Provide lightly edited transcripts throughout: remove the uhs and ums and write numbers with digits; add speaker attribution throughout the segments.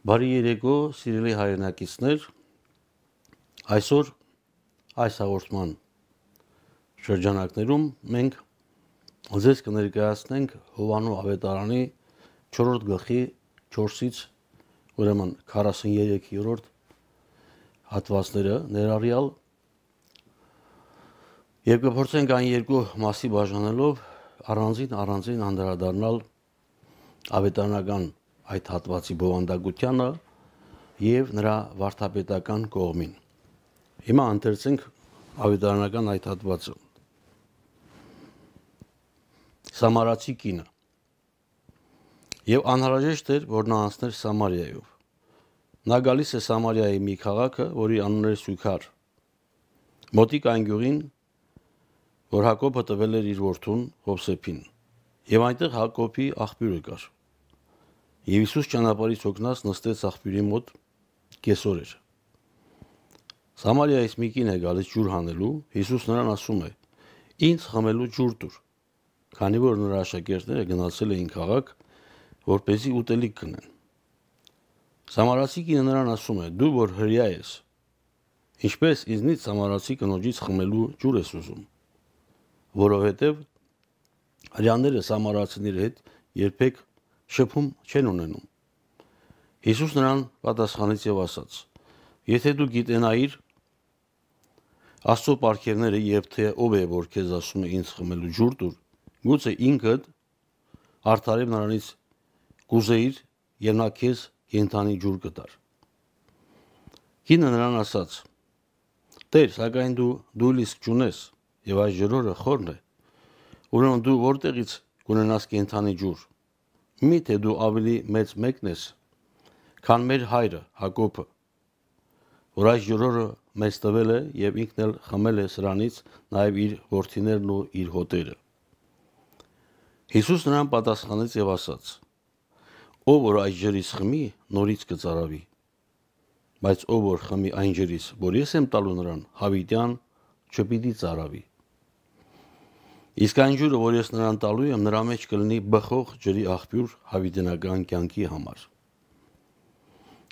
Speaker 1: Բարի երեկո, սիրելի հայրենակիցներ, այսօր այս հաղորդման շրջանակներում մենք ձեզ կներկայացնենք Հովանու ավետարանի 4-րդ գլխի 4-ից ուրեմն 43-րդ հատվածները ներառյալ եւ կփորձենք այն երկու մասի բաժանելով առանձին անդրադառնալ ավետարանական այդ հատվածի բովանդակությանը եւ նրա վարդապետական կողմին։ Հիմա ընթերցենք ավետարանական այդ հատվածը։ Սամարացի կինը։ Եվ անհրաժեշտ էր, որ նա անցներ Սամարիայով։ Նա գալիս է Սամարիայի մի քաղաքը, որի անունն էր Սուքար։ Մոտիկ այն գյուղին, որ Հակոբը տվել էր իր որդուն Հովսեփին։ Եվ այնտեղ Հակոբի աղբյուրը կար։ Եվ Հիսուս ճանապարհից հոգնած նստեց աղբյուրի մոտ կեսօր էր։ Սամարիայից մի կին է գալիս ջուր հանելու, Հիսուս նրան ասում է. «Ինձ խմելու ջուր տուր», քանի որ նրա աշակերտները գնացել էին քաղաք, որպեսզի ուտելիք գնեն։ Սամարացի կինը նրան ասում է. «Դու որ հրեա ես, ինչպես ինձնից սամարացի կնոջից խմելու ջուր ես ուզում, որովհետև հրեաները սամարացիների հետ երբեք շփում չեն ունենում»։ Հիսուս նրան պատասխանեց եւ ասաց. «Եթե դու գիտենայիր Աստծո պարգևները եւ թե ով է որ քեզ ասում է ինձ խմելու ջուր տուր, գուցե ինքդ արդարև նրանից կուզեիր եւ նա քեզ կենդանի ջուր կտար»։ Կինը նրան ասաց. «Տեր, սակայն դու լիսկ չունես եւ այս ջրորը խորն է, ուրեմն դու որտեղից կունենաս կենդանի ջուր։ Միթե դու ավելի մեծ մեկն ես, քան մեր հայրը Հակոբը, որ այս ջրորը մեզ տվել է եւ ինքն էլ խմել է սրանից, նաեւ իր որդիներն ու իր հոտերը»։ Հիսուս նրան պատասխանեց եւ ասաց. «Ով որ այս ջրից խմի, նորից կծարավի, բայց ով որ խմի այն ջրից, որ ես եմ տալու նրան, հավիտյան չպիտի ծարավի։ Իսկ այն ջուրը, որ ես նրան տալու եմ, նրա մեջ կլինի բխող ջրի աղբյուր հավիտենական կյանքի համար»։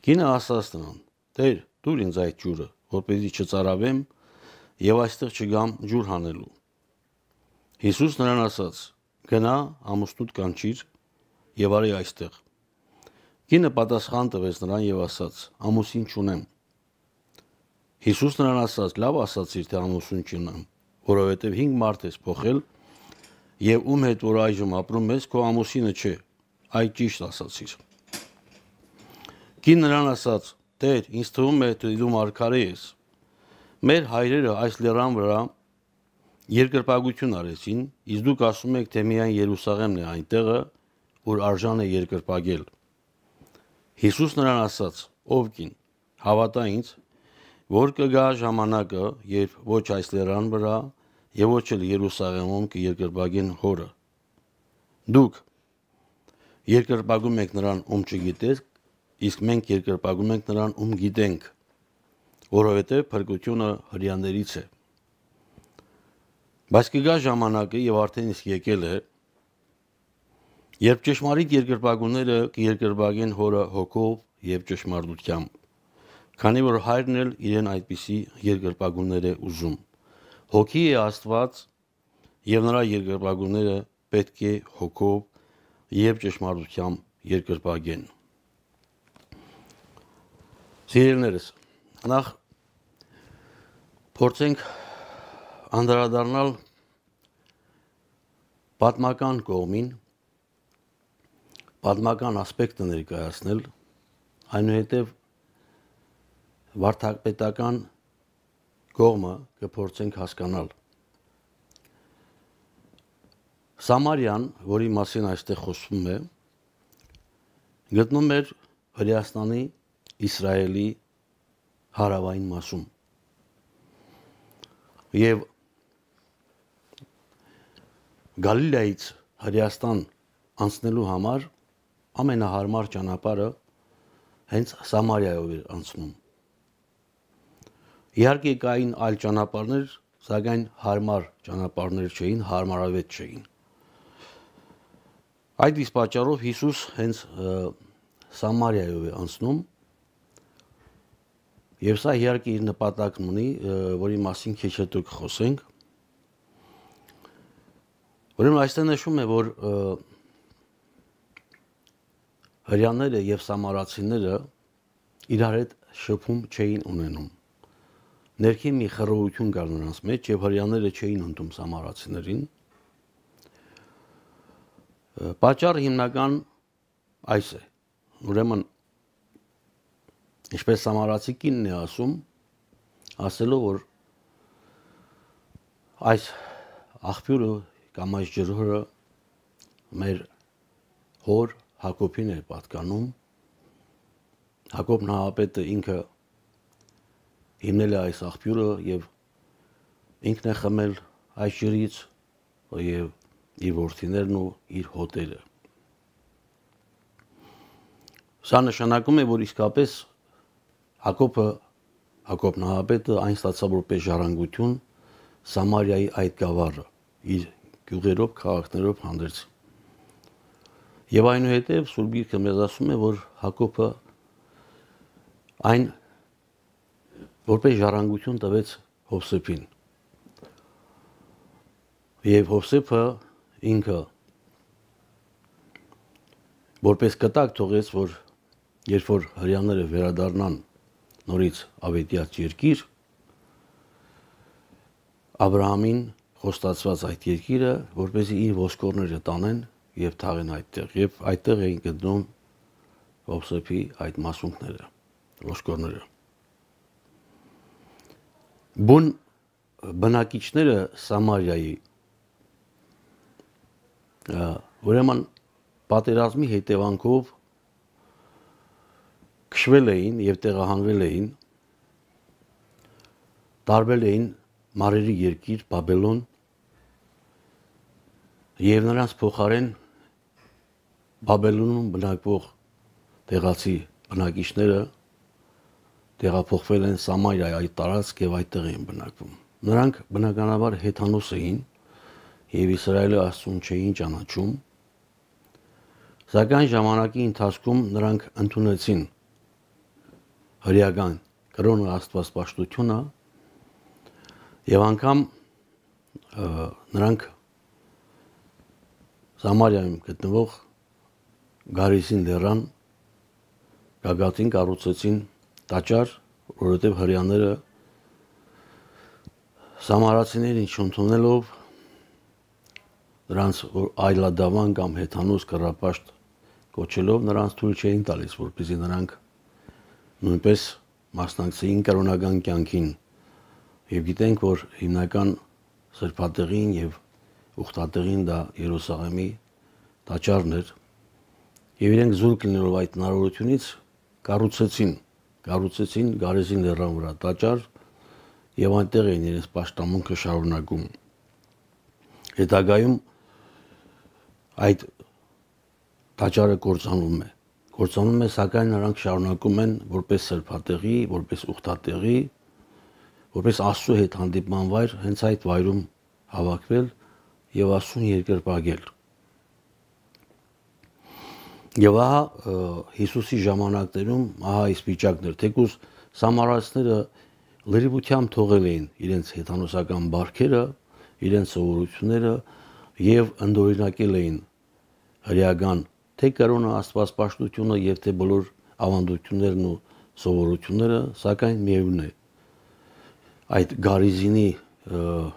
Speaker 1: Կինը ասաց նրան. «Տեր, տուր ինձ այդ ջուրը, որպեսզի չծարավեմ եւ այստեղ չգամ ջուր հանելու»։ Հիսուս նրան ասաց. «Գնա, ամուսնուդ կանչիր եւ արի այստեղ»։ Կինը պատասխան տվեց նրան եւ ասաց. «Ամուսին չունեմ»։ Հիսուս նրան ասաց. «Լավ ասացիր, թե ամուսին չունեմ, որովհետեւ 5 մարդ ես փոխել եւ ում հետ որ այժմ ապրում ես, քո ամուսինը չէ, այդ ճիշտ ասացիր»։ Կին նրան ասաց. «Տեր, ինձ թվում է, թե դու մարգարե ես։ Մեր հայրերը այս լեռան վրա երկրպագություն արեցին, իսկ դուք ասում եք, թե միայն Երուսաղեմն է այն տեղը, որ արժան է երկրպագել»։ Հիսուս նրան ասաց. «Ով կին, հավատա ինձ, որ կգա ժամանակը, երբ ոչ այս լեռան վրա եւ ոչ էլ Երուսաղեմում կերկրպագեն հորը։ Դուք երկրպագում եք նրան, ում չգիտեք, իսկ մենք երկրպագում ենք նրան, ում գիտենք, որովհետև փրկությունը հրեաներից է։ Բայց կգա ժամանակը եւ արդեն իսկ եկել է, երբ ճշմարիտ երկրպագուները կերկրպագեն հորը հոգով եւ ճշմարտությամբ, քանի որ հայրն էլ իրեն այդպիսի երկրպագուներ է ուզում։ Հոգի է Աստված եւ նրա երկրպագուները պետք է հոգով եւ ճշմարտությամբ երկրպագեն։ Սիրելիներս, նախ փորձենք անդրադառնալ պատմական կողմին, պատմական ասպեկտը ներկայացնել, այնուհետև վարդապետական կողմը կփորձենք հասկանալ։ Սամարիան, որի մասին այստեղ խոսվում է, գտնվում էր Հրեաստանի Իսրայելի հարավային մասում։ Եվ Գալիլեայից Հրեաստան անցնելու համար ամենահարմար ճանապարհը հենց Սամարիայով էր անցնում։ Իհարկե կային այլ ճանապարհներ, սակայն հարմար ճանապարհներ չէին, հարմարավետ չէին։ Այդ իսկ պատճառով Հիսուս հենց Սամարիայով է անցնում, եւ սա իհարկե իր նպատակն ունի, որի մասին քիչ հետո կխոսենք։ Ուրեմն այստեղ նշում է, որ հրեաները եւ սամարացիները իրար հետ շփում չէին ունենում։ Ներքին մի խռովություն կար նրանց մեջ եւ հրեաները չէին ընդունում սամարացիներին։ Պատճառը հիմնական այս է։ Ուրեմն ինչպես սամարացի կինն է ասելով, որ այս աղբյուրը կամ այս ջրհորը մեր հոր Հակոբին էր պատկանում։ Հակոբ նահապետը ինքը հիմնել է այս աղբյուրը եւ ինքն է խմել այս ջրից եւ իր որդիներն ու իր հոտերը։ Սա նշանակում է, որ իսկապես Հակոբ նահապետը այն ստացավ որպես ժառանգություն Սամարիայի այդ գավառը իր գյուղերով, քաղաքներով հանդերձ։ Եվ այնուհետև Սուրբ Գիրքը մեզ ասում է, որ Հակոբը այն որպես ժառանգություն տվեց Հովսեփին։ Եվ Հովսեփը ինքը որպես կտակ թողեց, որ երբ որ հրեաները վերադառնան նորից ավետյաց երկիր, Աբրահամին խոստացված այդ երկիրը, որպեսզի իր ոսկորները տանեն եւ թաղեն այդտեղ, եւ այդտեղ էին գտնում Հովսեփի այդ մասունքները, ոսկորները։ Բուն բնակիչները Սամարիայի ուրեմն պատերազմի հետևանքով քշվել էին եւ տեղահանվել էին, տարբեր էին մարերի երկիր Բաբելոն եւ նրանց փոխարեն Բաբելոնում բնակվող տեղացի բնակիչները տեղափոխվել են Սամարիայի այդ տարածք եւ այդտեղ էին բնակվում։ Նրանք բնականաբար հեթանոս էին եւ Իսրայելի Աստծուն չէին ճանաչում, սակայն ժամանակի ընթացքում նրանք ընդունեցին հրեական կրոնը աստվածպաշտությունը եւ անգամ նրանք Սամարիայում գտնվող Գարիզին լեռան գագաթին կառուցեցին տաճար, որովհետեւ հրեաները սամարացիներին չընդունելով նրանց այլադավան կամ հեթանոս կռապաշտ կոչելով նրանց թույլ չէին տալիս, որպեսզի նրանք նույնպես մասնակցեին կրոնական կյանքին եւ գիտենք, որ հիմնական սրբատեղին եւ ուխտատեղին դա Երուսաղեմի տաճարն էր եւ իրենք զուրկ լինելով այդ հնարավորությունից կառուցեցին Գարեզին լեռան վրա տաճար եւ այնտեղ էին իրենց պաշտամունքը շարունակում։ Հետագայում այդ տաճարը կործանում է, սակայն նրանք շարունակում են որպես սրբատեղի, որպես ուխտատեղի, որպես Աստծո հետ հանդիպման վայր, հենց այդ վայրում հավաքվել եւ Աստծուն երկրպագել։ Եվ ահա Հիսուսի ժամանակներում ահա այս վիճակն էր, թեկուզ սամարացիները լրիվությամբ թողել էին իրենց հեթանոսական բարքերը, իրենց սովորությունները եւ ընդօրինակել էին հրեական թե կրոնը աստվածպաշտությունը եւ թե բոլոր ավանդություններն ու սովորությունները, սակայն միևնույն է այդ Գարիզինի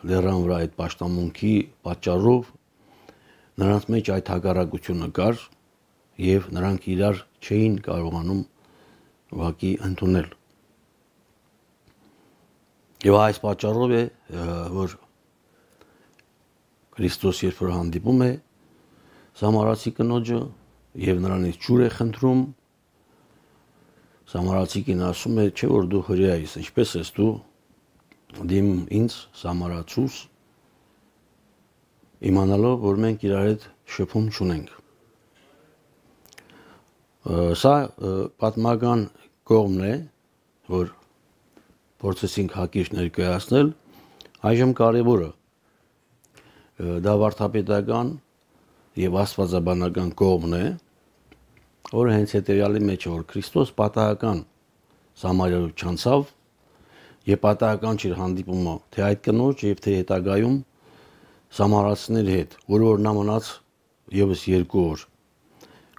Speaker 1: լեռան վրա այդ պաշտամունքի պատճառով նրանց մեջ այդ հակառակությունը կար եւ նրանք իրար չէին կարողանում ուղղակի ընդունել։ Եվ այս պատճառով է, որ Քրիստոս երբ որ հանդիպում է Սամարացի կնոջը եւ նրանից ջուր է խնդրում, Սամարացի կին ասում է, չէ որ դու հրեա ես, ինչպես ես դու դիմ ինձ Սամարացուս, իմանալով, որ մենք իրար հետ շփում չունենք։ Սա պատմական կողմն է, որ փորձեցինք հակիրճ ներկայացնել, այժմ կարևորը դա վարդապետական եւ աստվածաբանական կողմն է, որը հենց հետևյալի մեջ է, որ Քրիստոս պատահական Սամարիայով չանցավ եւ պատահական չէր հանդիպումը թե այդ կնոջ եւ թե հետագայում սամարացիների հետ, որը որ նա մնաց եւս 2 օր։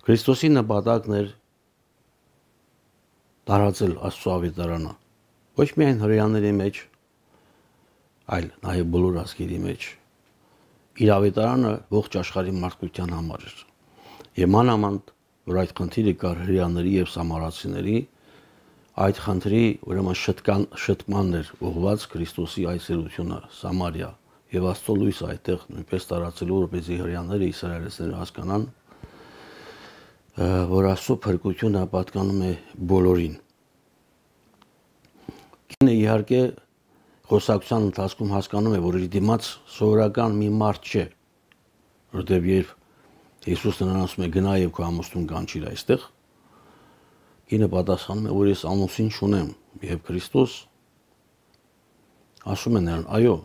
Speaker 1: Քրիստոսի նպատակն էր տարածել Աստծո ավետարանը ոչ միայն հրեաների մեջ, այլ նաեւ բոլոր ազգերի մեջ։ Իր ավետարանը ողջ աշխարհի մարդկության համար էր։ Եվ մանավանդ, որ այդ խնդիրը կար հրեաների եւ սամարացիների, այդ խնդրի ուրեմն շտկմանն էր ուղղված Քրիստոսի այցելությունը Սամարիա եւ Աստծո լույսը այդտեղ նույնպես տարածելու, որպեսզի հրեաները իսրայելցիները հասկանան, որ Աստծո փրկությունը պատկանում է բոլորին։ Կինը իհարկե խոսակցության ընթացքում հասկանում է, որ իր դիմաց սովորական մի մարդ չէ, որտեղ երբ Հիսուսը նրան ասում է գնա եւ քո ամուսնուն կանչիր այստեղ, կինը պատասխանում է, որ ես ամուսին չունեմ, եւ Քրիստոս ասում է նրան, այո,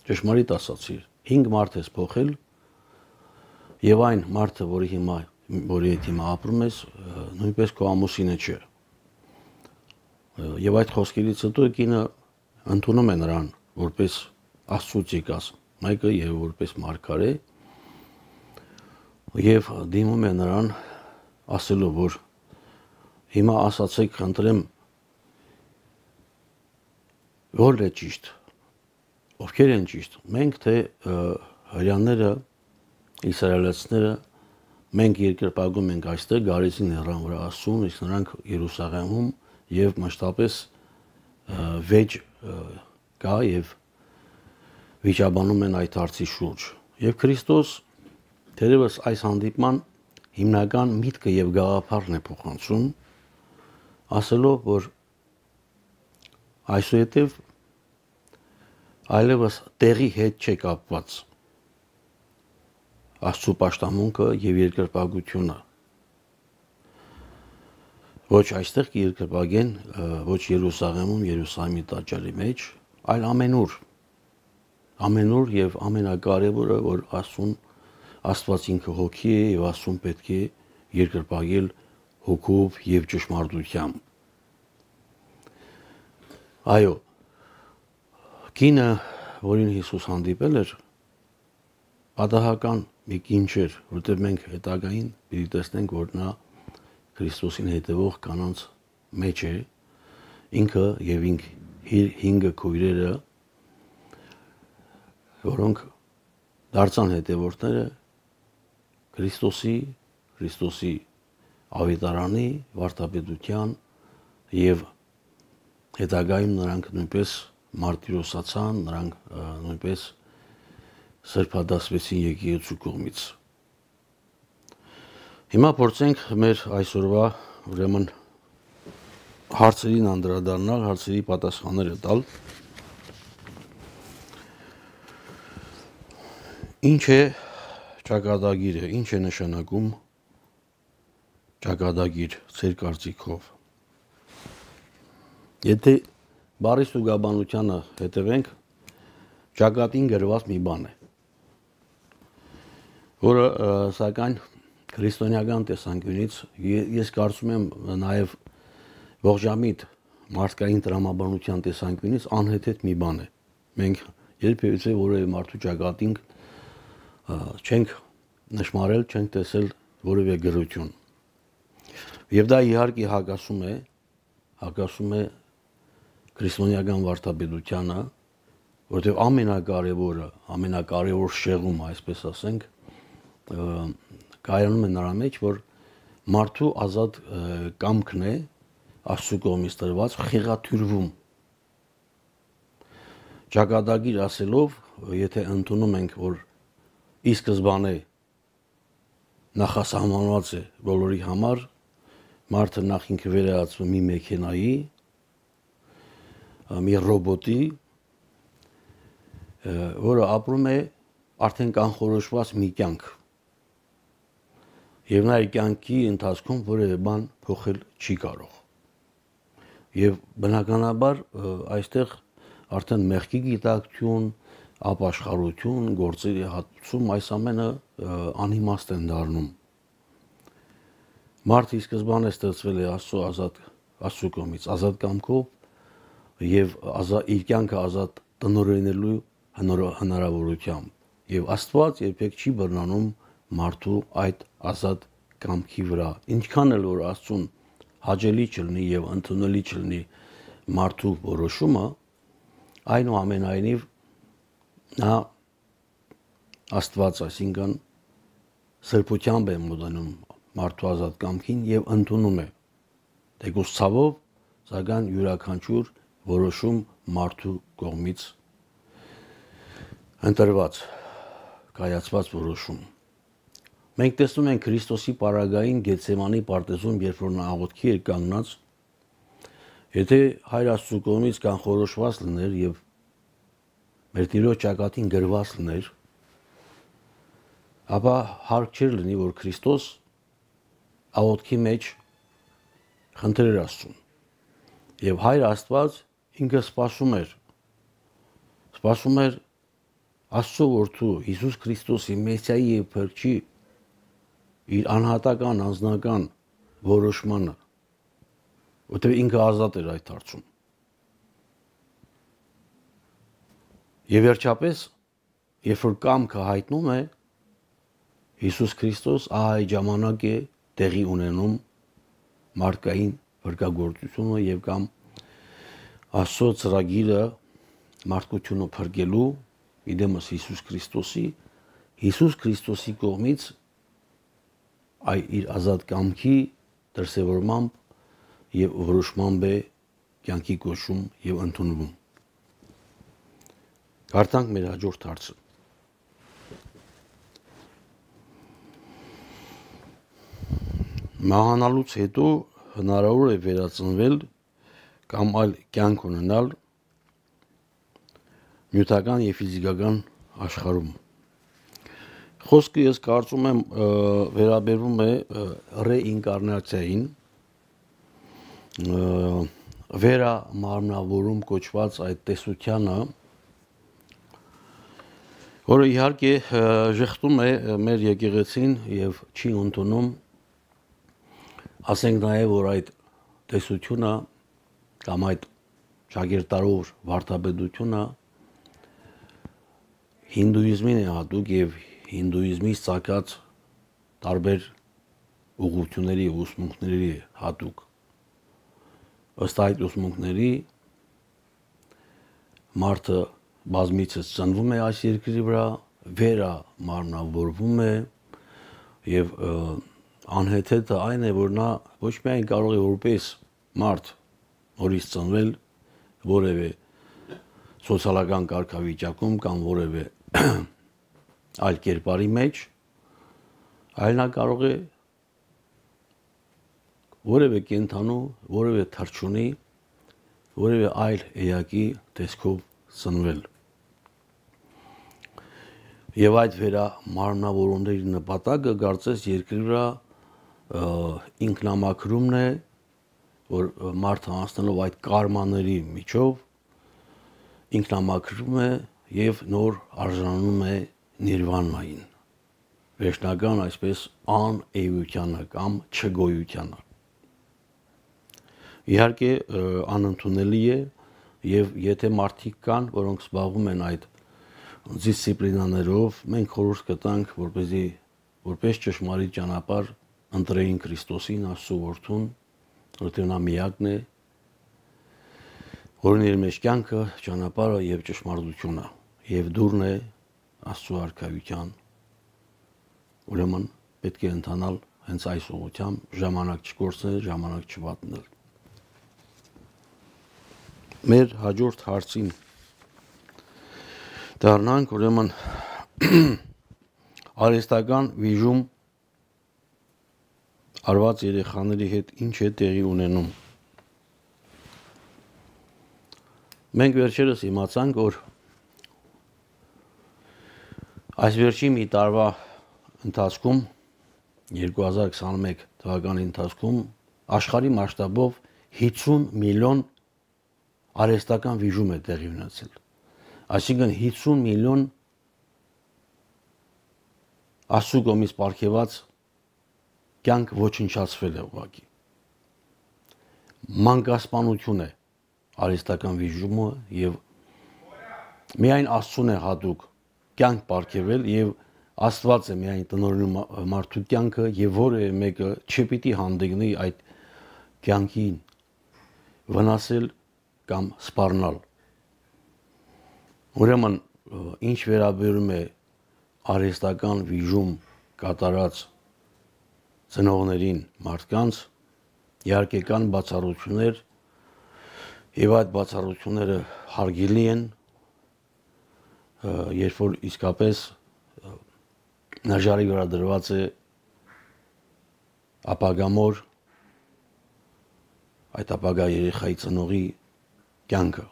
Speaker 1: ճշմարիտ ասացիր, 5 մարդ ես փոխել եւ այն մարդը, որի հետ հիմա ապրում ես, նույնպես քո ամուսինը չէ։ Եվ այդ խոսքերից հետո կինը ընդունում է նրան որպես Աստծուց եկած մեկը եւ որպես մարգարե եւ դիմում է նրան ասելով, որ հիմա ասացեք, խնդրեմ, որն է ճիշտ, ովքեր են ճիշտ, մենք թե հրեաները, իսրայելացիները, մենք երկրպագում ենք այստեղ գարեզին հեռան վրա Աստծուն, իսկ նրանք Երուսաղեմում եւ մշտապես վեճ կա եւ վիճաբանում են այդ հարցի շուրջ։ Եվ Քրիստոս թերևս այս հանդիպման հիմնական միտքը եւ գաղափարն է փոխանցում, ասելով, որ այսուհետև այլևս տեղի հետ չէ կապված Աստծո պաշտամունքը եւ երկրպագությունը։ Ոչ այստեղ կերկրպագեն, ոչ Երուսաղեմում, Երուսաղեմի տաճարի մեջ, այլ ամենուր։ Ամենուր եւ ամենակարևորը, որ Աստված ինքը հոգի է եւ Աստծուն պետք է երկրպագել հոգով եւ ճշմարտությամբ։ Այո, կինը, որին Հիսուս հանդիպել էր, պատահական մի կին չէր, որտեղ մենք հետագային պիտի տեսնենք, որ նա Քրիստոսին հետևող կանանց մեջ է, ինքը եւ իր 5 քույրերը, որոնք դարձան հետևորդները Քրիստոսի ավետարանի, վարդապետության եւ հետագայում նրանք նույնպես մարտիրոսացան, նրանք նույնպես սրբադասվեցին եկեղեցու կողմից։ Հիմա փորձենք մեր այսօրվա ուրեմն հարցերին անդրադառնալ, հարցերի պատասխանները տալ։ Ինչ է ճակատագիրը, ինչ է նշանակում ճակատագիր ձեր կարծիքով։ Եթե բառի ստուգաբանությանը հետևենք, ճակատին գրված մի բան է, որը սակայն քրիստոնեական տեսանկյունից ես կարծում եմ նաև ողջամիտ մարդկային տրամաբանության տեսանկյունից անհեթեթ մի բան է։ Մենք երբևէ որևէ մարդու ճակատին չենք նշмарել, չենք տեսել որևէ գրություն։ Եվ դա իհարկե հակասում է քրիստոնեական վարդապետությանը, որտեղ ամենակարևոր շեղումը, այսպես ասենք, կայանում է նրա մեջ, որ մարդու ազատ կամքն է Աստծո կողմից տրված խեղաթյուրվում։ Ճակատագիր ասելով, եթե ընդունում ենք, որ ի սկզբանե նախասահմանված է բոլորի համար, մարդը նախ ինքը վերահացվում մի մեքենայի, մի ռոբոտի, որը ապրում է արդեն կանխորոշված մի կյանք։ Եվ նա իր կյանքի ընթացքում որևէ բան փոխել չի կարող։ Եվ բնականաբար այստեղ արդեն մեղքի գիտակցություն, ապաշխարություն, գործերի հատուցում, այս ամենը անիմաստ են դառնում։ Մարդը ի սկզբանե ստեղծվել է Աստծո կողմից ազատ կամքով եւ իր կյանքը ազատ տնօրինելու հնարավորությամբ եւ Աստված երբեք չի բռնանում մարդու այդ ազատ կամքի վրա ինչքան էլ որ Աստծուն հաճելի չլինի եւ ընդունելի չլինի մարդու որոշումը այնուամենայնիվ նա Աստված այսինքն սրբությամբ է մոտենում մարդու ազատ կամքին եւ ընդունում է թեկուզ ցավով սակայն յուրաքանչյուր որոշում մարդու կողմից ընտրված կայացված որոշում մենք տեսնում ենք Քրիստոսի պարագային Գեթսեմանի պարտեզում երբ որ նա աղոթքի էր կանգնած եթե Հայր Աստծո կողմից կանխորոշված լիներ եւ մեր Տիրոջ ճակատին գրված լիներ ապա հարկ չէր լինի որ Քրիստոս աղոթքի մեջ խնդրեր Աստծուն եւ Հայր Աստված ինքը սպասում էր Աստծո որդու Հիսուս Քրիստոսի Մեսիայի եւ Փրկչի իր անհատական անձնական որոշմանը որտեղ ինքը ազատ էր այդ հարցում եւ վերջապես երբ որ կամքը հայտնում է Հիսուս Քրիստոս այդ ժամանակ է տեղի ունենում մարդկային փրկagorցությունը եւ կամ Աստծո ծրագիրը մարդկությունը փրկելու իդեմս Հիսուս Քրիստոսի կողմից իր ազատ կամքի դրսևորմամբ եւ որոշմամբ է կյանքի կոչում եւ ընդունվում Կարդանք մեր հաջորդ հարցը Մահանալուց հետո հնարավոր է վերածնվել կամ այլ կյանք ունենալ նյութական եւ ֆիզիկական աշխարհում Խոսքը ես կարծում եմ վերաբերվում է ռեինկարնացիային վերամարմնավորում կոչված այդ տեսությանը որը իհարկե ժխտում է մեր եկեղեցին եւ չի ընդունում ասենք նաեւ որ այդ տեսությունը կամ այդ շագերտարով վարդապետությունը հինդուիզմին է հատուկ եւ հինդուիզմից ցակած տարբեր ուղղությունների եւ ուսմունքների հատուկ ըստ այդ ուսմունքների մարդը բազմիցս ծնվում է այս երկրի վրա վերամարմնավորվում է եւ անհեթեթը այն է որ նա ոչ միայն կարող է որպես մարդ նորից ծնվել որևէ սոցիալական կարգավիճակում կամ որևէ այլ կերպարի մեջ այլ նա կարող է որևէ կենթանու որևէ թռչունի որևէ այլ էակի տեսքով ծնվել եւ այդ վերամարմնավորումների նպատակը կարծես երկրի վրա ինքնամաքրումն է որ մարդը անցնելով այդ կարմաների միջով ինքնամաքրում է եւ նոր արժանանում է նիրվանային վերջնական այսպես անէությանը կամ չգոյությանը իհարկե անընդունելի է եւ եթե մարդիկ կան որոնք զբաղվում են այդ դիսցիպլինաներով մենք խորհուրդ կտանք որպեսզի որպես ճշմարիտ ճանապարհ ընտրեին Քրիստոսին Աստծո որդուն որտեղ նա միակն է որն իր մեջ կյանքը ճանապարհը եւ ճշմարտությունը եւ դուրն է Աստծո արքայության ուրեմն պետք է ընթանալ հենց այս ուղղությամբ ժամանակ չկորցնել ժամանակ չվատնել մեր հաջորդ հարցին դառնանք ուրեմն արհեստական վիժում արված երեխաների հետ ինչ է տեղի ունենում մենք վերջերս իմացանք որ այս վերջի մի տարվա ընթացքում 2021 թվականի ընթացքում աշխարհի մասշտաբով 50 միլիոն արհեստական վիժում է տեղի ունեցել այսինքն 50 միլիոն Աստծո կողմից պարգևած կյանք ոչնչացվել է ուղղակի։ Մանկասպանություն է արհեստական վիժումը եւ միայն Աստծուն է հատուկ կյանք պարգևել եւ Աստված է միայն տնօրինում մարդու կյանքը եւ որևէ մեկը չպիտի հանդիգնի այդ կյանքին վնասել կամ սպառնալ։ Ուրեմն ինչ վերաբերում է արհեստական վիժում կատարած ծնողներին մարդկանց, իհարկե կան բացառություններ եւ այդ բացառությունները հարգելի են, երբ որ իսկապես նժարի վրա դրված է ապագամոր այդ ապագա երեխայի ծնողի կյանքը։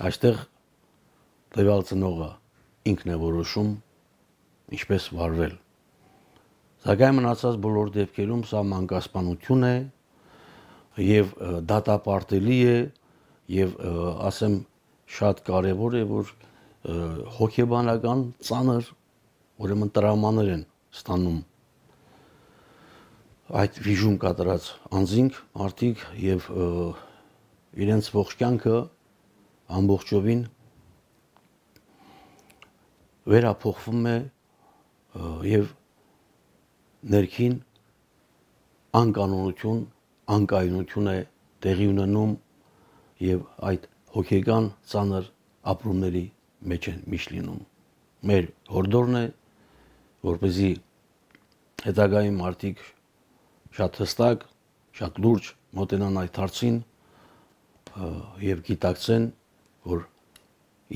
Speaker 1: Այստեղ տվյալ ծնողը ինքն է որոշում ինչպես վարվել։ Սակայն մնացած բոլոր դեպքերում սա մանկասպանություն է եւ դատապարտելի է եւ ասեմ շատ կարեւոր է որ հոգեբանական ծանր ուրեմն տրավմաներ են ստանում այդ վիժում կատարած անձինք մարդիկ եւ իրենց ողջ կյանքը ամբողջովին վերափոխվում է եւ ներքին անկանոնություն, անկայունություն է տեղի ունենում եւ այդ հոգեկան ծանր ապրումների մեջ են միշտ լինում։ Մեր հորդորն է, որպեսզի հետագայում մարդիկ շատ հստակ, շատ լուրջ մոտենան այդ հարցին եւ գիտակցեն, որ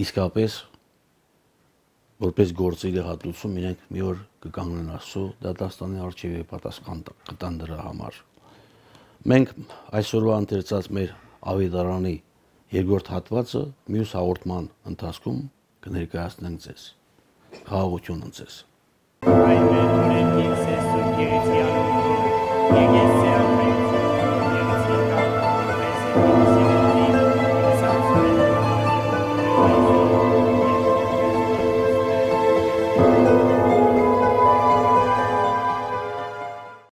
Speaker 1: իսկապես որպես գործերի հատուցում իրենք մի օր կկանգնեն Աստծո դատաստանի առջև եւ պատասխան կտան դրա համար։ Մենք այսօրվա ընթերցած մեր ավետարանի երկրորդ հատվածը մյուս հաղորդման ընթացքում կներկայացնենք ձեզ։ Խաղաղություն ընձեզ։